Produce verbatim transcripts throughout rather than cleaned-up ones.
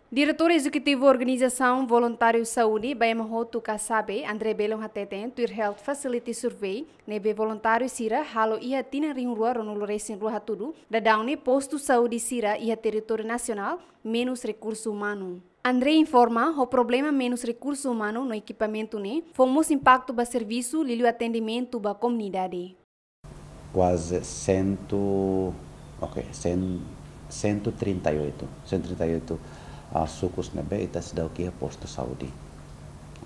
Diretór Ezekutivu Organizasaun Voluntáriu Saúde, Baiama Hotu, Kasabe, André Belon hateten, tuir Health Facility Survey ne'ebé voluntáriu sira halo iha tinan rihun rua ruanulu resin rua hatudu, daudaun ne'e postu saúde sira iha territóriu nasionál menus rekursu umanu. André informa, ho problema menus rekursu umanu no ekipamentu ne'e, fó mós impaktu ba servisu liuliu atendimentu ba komunidade. Kuaze sentu, ok, sen-, sentu trinta e oito, sentu trinta e oito, ah, sukus ne'ebé ita seidauk iha postu saúde.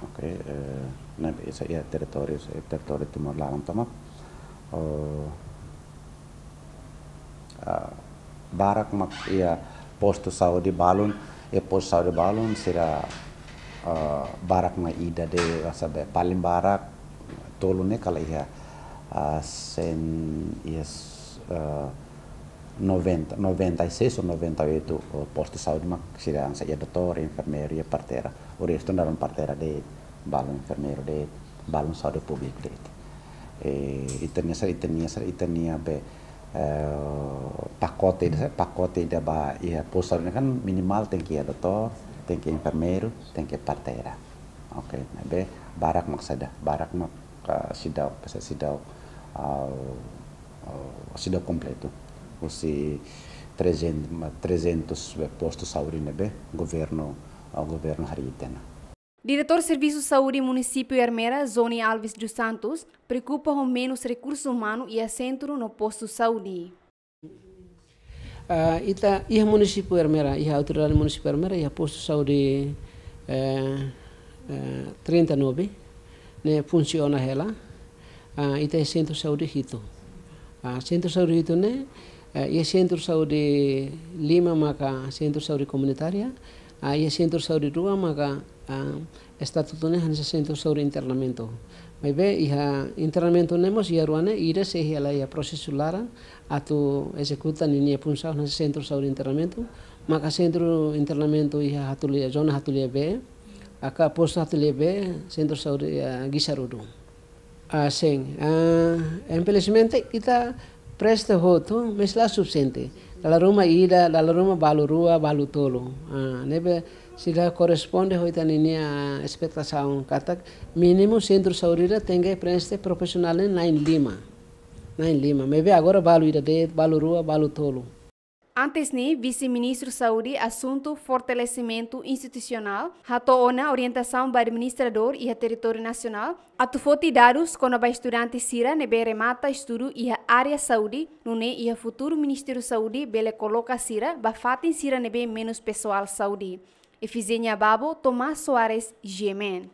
Ok, eh, ne'ebé iha territóriu, eh, territóriu Timor laran tomak. Oh, ah, barak mak iha postu saúde balun, iha postu saúde balun sira, ah, barak mak ida de'it, sabe, paling barak tolu ne'e kala iha, ah, sen, iha, ah, noventa, noventa e seis ou noventa e oito, oh, postu saúde mak sira hanesan iha doutór, enfermeiru, iha parteira. O restu naran parteira de'it, balun enfermeiru de'it, balun saúde públiku de'it. Eh, ita-nia sira, ita-nia sira, ita-nia be, eh, pakote ida, pakote ida ba iha postu saúde kan minimal tenke iha doutór, tenke enfermeiru, tenke parteira. Ok, ne'ebé barak mak seidauk, barak mak, ah, seidauk, seidauk, ah, ah, seidauk kompletu. Husi trezentos, trezentos be postu saúde ne'ebé governu, ah, governu harii tiha ona. Diretór Servisu Saúde Munisípiu Ermera, Zoni Alves dos Santos, preokupa ho menus rekursu umanu iha sentru no postu saúde. Ah, ita iha munisípiu Ermera, iha autoridade munisípiu Ermera, iha postu saúde, eh, eh, trinta e nove, ne'e funsiona hela. Ah, ita iha sentru saúde hitu. Ah, sentru saúde hitu ne'e, eh, iha sentru saúde lima maka sentru saúde komunitária, ah, iha sentru saúde rua maka, ah, estatutu ne'e hanesan sentru saúde internamentu. Maibé iha internamentu ne'e mós iha rua ne'e, ida sei hela iha prosesu laran atu ezekuta ninia funsaun hanesan sentru saúde internamentu, maka sentru internamentu iha Hatulia, zona Hatulia B, aka postu Hatulia B, sentru saúde, eh, Gisarudu. Ah, sin. Ah, infelizmente, ita presta hotu, mas la sufisiente. Dala ruma ida, dala ruma balu rua, balu tolu. Ah, ne'ebé seidauk korresponde ho ita-nia espetasaun katak mínimu sentru saúde ida tenke preenxe profisionál na'in lima. Na'in lima. Maibé agora balu ida de'it, balu rua, balu tolu. Antes ne'e, Vise-Ministru Saúde, asuntu fortalesimentu institusionál, hato'o ona orientasaun ba administradór iha territóriu nasionál atu foti dadus kona-ba estudante sira ne'ebé remata estudu iha área saúde, nune'e iha futuru Ministériu Saúde bele koloka sira ba fatin sira ne'ebé menus pesoál saúde. Efizenia Babo, Tomás Soares, G M N.